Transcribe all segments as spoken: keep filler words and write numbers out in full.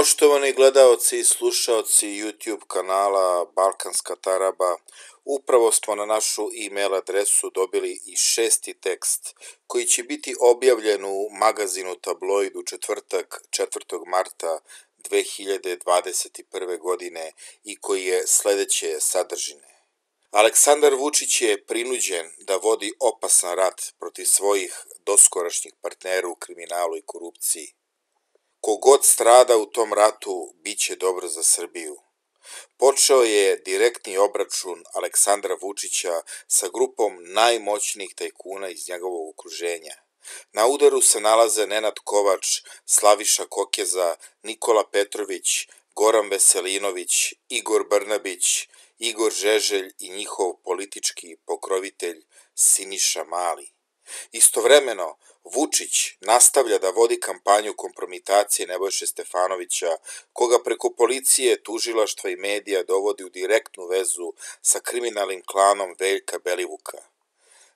Poštovani gledaoci i slušaoci YouTube kanala Balkanska taraba, upravo smo na našu e-mail adresu dobili i šesti tekst koji će biti objavljen u magazinu Tabloid u četvrtak, četvrtog marta dve hiljade dvadeset prve. godine i koji je sledeće sadržine. Aleksandar Vučić je prinuđen da vodi opasan rat protiv svojih doskorašnjih partnera u kriminalu i korupciji. Kogod strada u tom ratu, bit će dobro za Srbiju. Počeo je direktni obračun Aleksandra Vučića sa grupom najmoćnijih tajkuna iz njegovog okruženja. Na udaru se nalaze Nenad Kovač, Slaviša Kokeza, Nikola Petrović, Goran Veselinović, Igor Brnabić, Igor Žeželj i njihov politički pokrovitelj Siniša Mali. Istovremeno, Vučić nastavlja da vodi kampanju kompromitacije Nebojše Stefanovića, koga preko policije, tužilaštva i medija dovodi u direktnu vezu sa kriminalnim klanom Veljka Belivuka.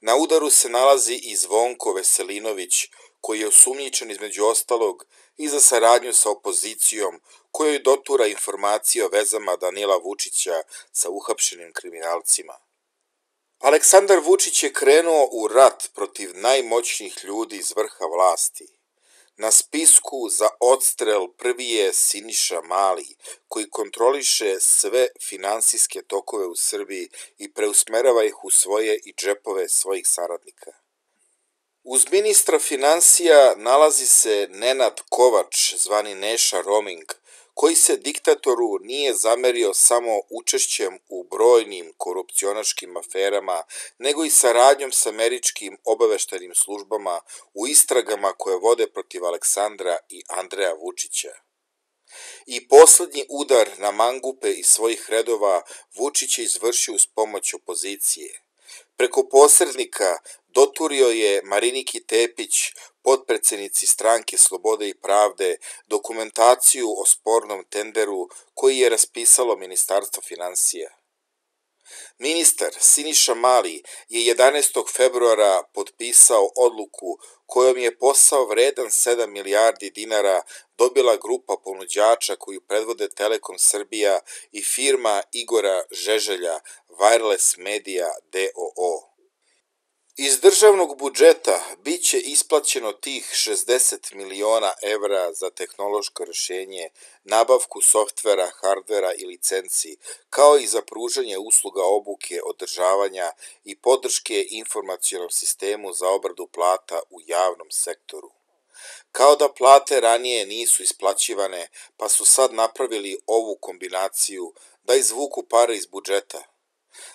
Na udaru se nalazi i Zvonko Veselinović, koji je osumnjičen između ostalog i za saradnju sa opozicijom, kojoj dotura informacije o vezama Danila Vučića sa uhapšenim kriminalcima. Aleksandar Vučić je krenuo u rat protiv najmoćnijih ljudi iz vrha vlasti. Na spisku za odstrel prvi je Siniša Mali, koji kontroliše sve finansijske tokove u Srbiji i preusmerava ih u svoje i džepove svojih saradnika. Uz ministra finansija nalazi se Nenad Kovač, zvani Neša Roming, koji se diktatoru nije zamerio samo učešćem u brojnim korupcionaškim aferama, nego i saradnjom s američkim obaveštajnim službama u istragama koje vode protiv Aleksandra i Andreja Vučića. I poslednji udar na mangupe iz svojih redova Vučić je izvršio uz pomoć opozicije. Preko posrednika doturio je Mariniki Tepić, potpredsednici stranke Slobode i pravde, dokumentaciju o spornom tenderu koji je raspisalo Ministarstvo finansija. Ministar Siniša Mali je jedanaestog februara potpisao odluku kojom je posao vredan sedam milijardi dinara dobila grupa ponuđača koju predvode Telekom Srbija i firma Igora Žeželja Wireless Media d o o. Iz državnog budžeta bit će isplaćeno tih šezdeset miliona evra za tehnološko rešenje, nabavku softvera, hardvera i licenci, kao i za pružanje usluga obuke, održavanja i podrške informacionom sistemu za obradu plata u javnom sektoru. Kao da plate ranije nisu isplaćivane, pa su sad napravili ovu kombinaciju da izvuku pare iz budžeta.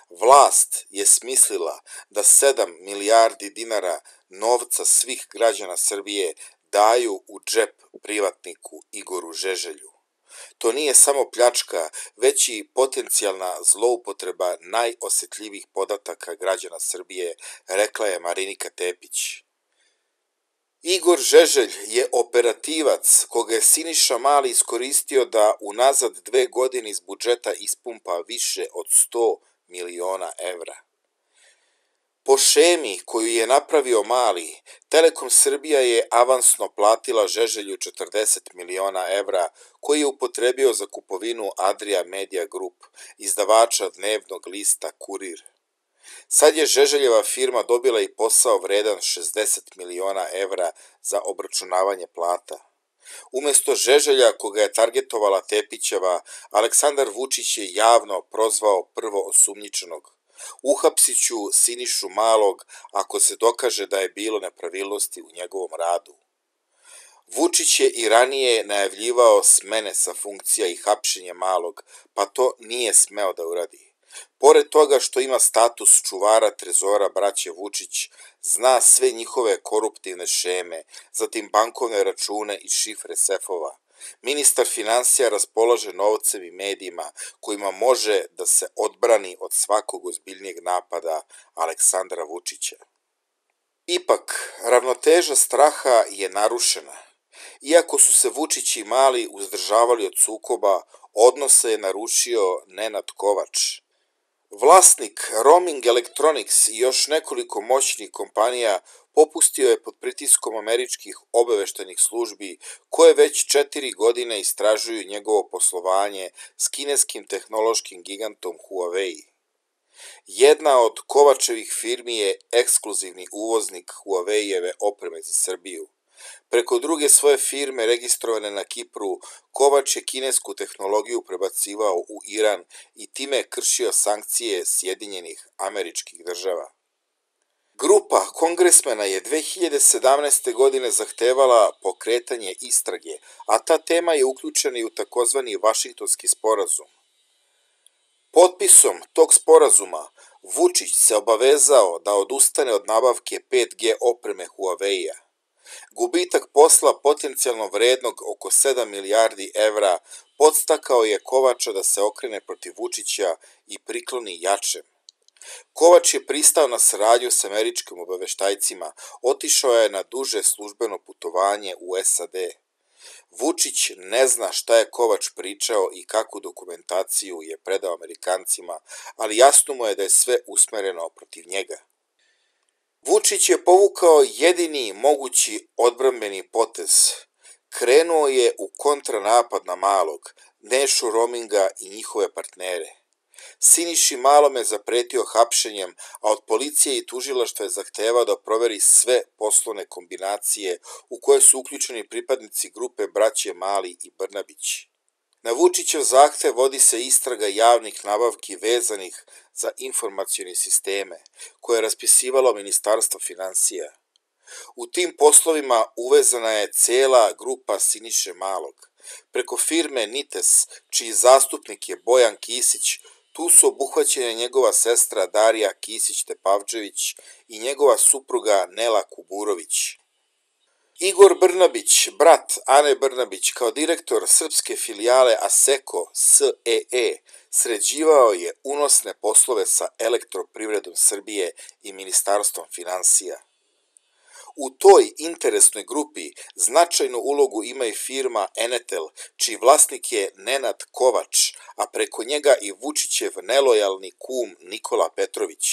Vlast je smislila da sedam milijardi dinara novca svih građana Srbije daju u džep privatniku Igoru Žeželju. To nije samo pljačka, već i potencijalna zloupotreba najosetljivijih podataka građana Srbije, rekla je Marinika Tepić. Igor Žeželj je operativac koga je Siniša Mali iskoristio da unazad dve godine iz budžeta ispumpa više od sto miliona evra. Po šemi koju je napravio Mali, Telekom Srbija je avansno platila Žeželju četrdeset miliona evra koji je upotrebio za kupovinu Adria Media Group, izdavača dnevnog lista Kurir. Sad je Žeželjeva firma dobila i posao vredan šezdeset miliona evra za obračunavanje plata. Umesto Žeželja, koga je targetovala Tepićeva, Aleksandar Vučić je javno prozvao prvo osumnjičenog. Uhapsit ću Sinišu Malog ako se dokaže da je bilo nepravilnosti u njegovom radu. Vučić je i ranije najavljivao smene sa funkcija i hapšenje Malog, pa to nije smeo da uradi. Pored toga što ima status čuvara trezora braće Vučić, zna sve njihove koruptivne šeme, zatim bankovne račune i šifre sefova. Ministar finansija raspolaže novcem i medijima kojima može da se odbrani od svakog ozbiljnijeg napada Aleksandra Vučića. Ipak, ravnoteža straha je narušena. Iako su se Vučić i Mali uzdržavali od sukoba, odnose je narušio Nenad Kovač. Vlasnik Roaming Electronics i još nekoliko moćnih kompanija popustio je pod pritiskom američkih obaveštajnih službi koje već četiri godine istražuju njegovo poslovanje s kineskim tehnološkim gigantom Huawei. Jedna od Kovačevih firmi je ekskluzivni uvoznik Huawei-eve opreme za Srbiju. Preko druge svoje firme registrovane na Kipru, Kovač je kinesku tehnologiju prebacivao u Iran i time kršio sankcije Sjedinjenih Američkih Država. Grupa kongresmena je dve hiljade sedamnaeste. godine zahtevala pokretanje istrage, a ta tema je uključena i u takozvani Vašingtonski sporazum. Potpisom tog sporazuma Vučić se obavezao da odustane od nabavke pet G opreme Huawei-a. Gubitak posla potencijalno vrednog oko sedam milijardi evra podstakao je Kovača da se okrene protiv Vučića i prikloni jačem. Kovač je pristao na saradnju s američkim obaveštajcima, otišao je na duže službeno putovanje u S A D. Vučić ne zna šta je Kovač pričao i kakvu dokumentaciju je predao Amerikancima, ali jasno mu je da je sve usmereno protiv njega. Vučić je povukao jedini mogući odbrambeni potez. Krenuo je u kontranapad na Malog, Nešu Rominga i njihove partnere. Siniši Malom je zapretio hapšenjem, a od policije i tužilaštva je zahtevao da proveri sve poslovne kombinacije u koje su uključeni pripadnici grupe braće Mali i Brnabić. Na Vučićev zahtev vodi se istraga javnih nabavki vezanih za informacione sisteme, koje je raspisivalo Ministarstvo finansija. U tim poslovima uvezana je cela grupa Siniše Malog. Preko firme Nites, čiji zastupnik je Bojan Kisić, tu su obuhvaćene njegova sestra Darija Kisić-Tepavčević i njegova supruga Nela Kuburović. Igor Brnabić, brat Ane Brnabić, kao direktor srpske filijale Asseco S E E, sređivao je unosne poslove sa Elektroprivredom Srbije i Ministarstvom finansija. U toj interesnoj grupi značajnu ulogu ima i firma Enetel, čiji vlasnik je Nenad Kovač, a preko njega i Vučićev nelojalni kum Nikola Petrović.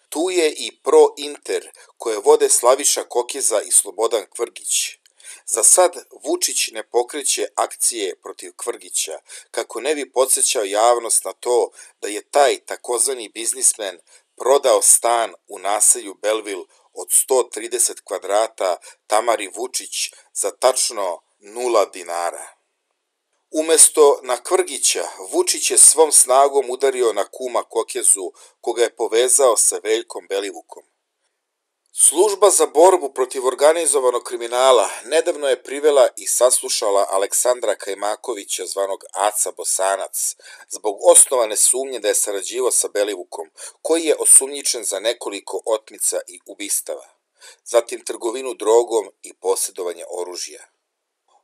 Tu je i Pro-Inter, koje vode Slaviša Kokeza i Slobodan Kvrgić. Za sad Vučić ne pokreće akcije protiv Kvrgića, kako ne bi podsjećao javnost na to da je taj takozvani biznismen prodao stan u naselju Belville od sto trideset kvadrata Tamari Vučić za tačno nula dinara. Umesto na Kvrgića, Vučić je svom snagom udario na kuma Kokezu, koga je povezao sa Veljkom Belivukom. Služba za borbu protiv organizovanog kriminala nedavno je privela i saslušala Aleksandra Kajmakovića, zvanog Aca Bosanac, zbog osnovane sumnje da je sarađivao sa Belivukom, koji je osumnjičen za nekoliko otmica i ubistava, zatim trgovinu drogom i posjedovanje oružja.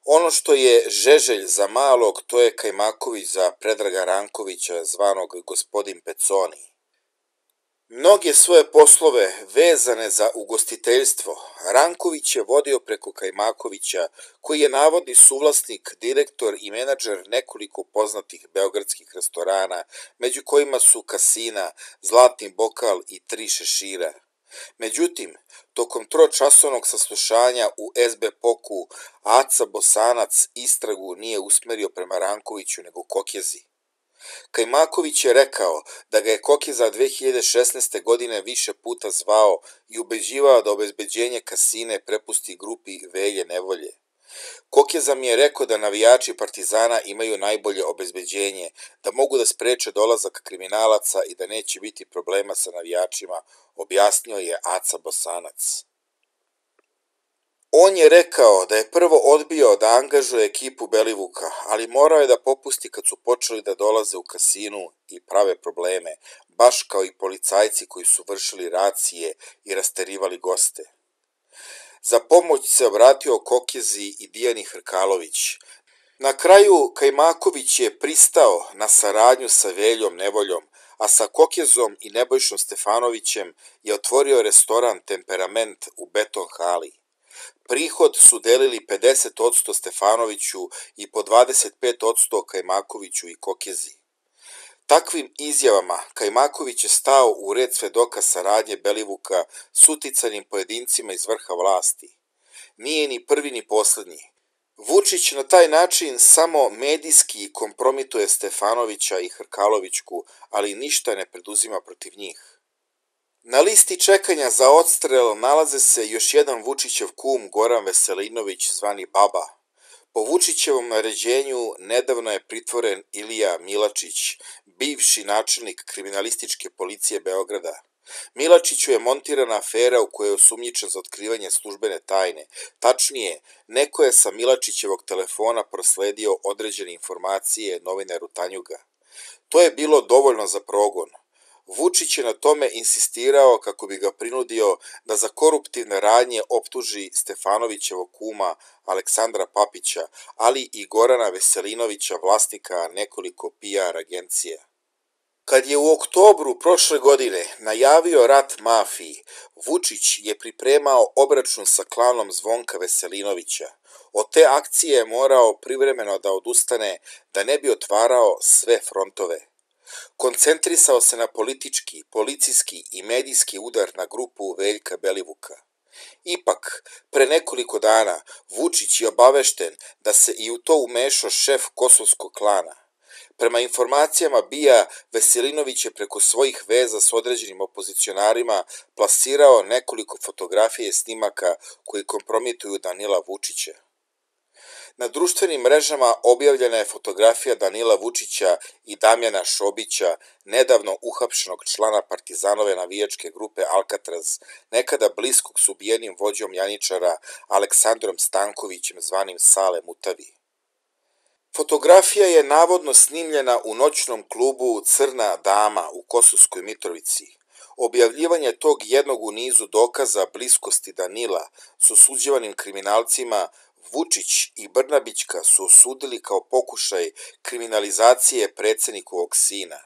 Ono što je Žeželj za Malog, to je Kajmaković za Predraga Rankovića, zvanog gospodin Peconi. Mnoge svoje poslove vezane za ugostiteljstvo Ranković je vodio preko Kajmakovića, koji je navodni suvlasnik, direktor i menadžer nekoliko poznatih beogradskih restorana, među kojima su Kasina, Zlatni bokal i Tri šešira. Međutim, tokom tročasovnog saslušanja u S B P O K-u Aca Bosanac istragu nije usmerio prema Rankoviću nego Kokezi. Kajmaković je rekao da ga je Kokeza dve hiljade šesnaeste. godine više puta zvao i ubeđivao da obezbeđenje Kasine prepusti grupi Velje Nevolje. Kokeza mi je rekao da navijači Partizana imaju najbolje obezbeđenje, da mogu da spreče dolazak kriminalaca i da neće biti problema sa navijačima, objasnio je Aca Bosanac. On je rekao da je prvo odbio da angažuje ekipu Belivuka, ali morao je da popusti kad su počeli da dolaze u kasinu i prave probleme, baš kao i policajci koji su vršili racije i rasterivali goste. Za pomoć se obratio Kokezi i Dijani Hrkalović. Na kraju Kajmaković je pristao na saradnju sa Veljom Nevoljom, a sa Kokezom i Nebojšom Stefanovićem je otvorio restoran Temperament u Beton hali. Prihod su delili pedeset posto Stefanoviću i po dvadeset pet posto Kajmakoviću i Kokezi. Takvim izjavama Kajmaković je stao u red svedoka saradnje Belivuka s uticanim pojedincima iz vrha vlasti. Nije ni prvi ni poslednji. Vučić na taj način samo medijski kompromituje Stefanovića i Hrkalovićku, ali ništa ne preduzima protiv njih. Na listi čekanja za odstrel nalaze se još jedan Vučićev kum Goran Veselinović zvani Baba. Po Vučićevom naređenju nedavno je pritvoren Ilija Milačić, bivši načelnik kriminalističke policije Beograda. Milačiću je montirana afera u kojoj je osumnjičen za otkrivanje službene tajne. Tačnije, neko je sa Milačićevog telefona prosledio određene informacije novinaru Tanjuga. To je bilo dovoljno za progon. Vučić je na tome insistirao kako bi ga prinudio da za koruptivne radnje optuži Stefanovićevog kuma Aleksandra Papića, ali i Gorana Veselinovića, vlasnika nekoliko P R agencija. Kad je u oktobru prošle godine najavio rat mafiji, Vučić je pripremao obračun sa klanom Zvonka Veselinovića. Od te akcije je morao privremeno da odustane da ne bi otvarao sve frontove. Koncentrisao se na politički, policijski i medijski udar na grupu Veljka Belivuka. Ipak, pre nekoliko dana Vučić je obavešten da se i u to umešao šef kosovskog klana. Prema informacijama B I A, Veselinović je preko svojih veza s određenim opozicionarima plasirao nekoliko fotografije i snimaka koji kompromituju Danila Vučića. Na društvenim mrežama objavljena je fotografija Danila Vučića i Damjana Šobića, nedavno uhapšenog člana Partizanove navijačke grupe Alcatraz, nekada bliskog s ubijenim vođom Janičara Aleksandrom Stankovićem zvanim Sale Mutavi. Fotografija je navodno snimljena u noćnom klubu Crna dama u Kosovskoj Mitrovici. Objavljivanje tog jednog u nizu dokaza bliskosti Danila s osuđivanim kriminalcima Vučić i Brnabićka su osudili kao pokušaj kriminalizacije predsjednikovog sina.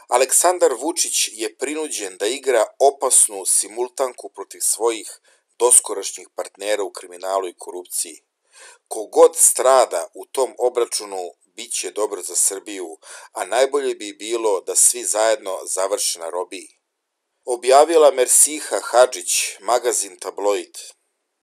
Aleksandar Vučić je prinuđen da igra opasnu simultanku protiv svojih doskorašnjih partnera u kriminalu i korupciji. Kogod strada u tom obračunu bit će dobro za Srbiju, a najbolje bi bilo da svi zajedno završe na robiji. Objavila Mersiha Hadžić, magazin Tabloid.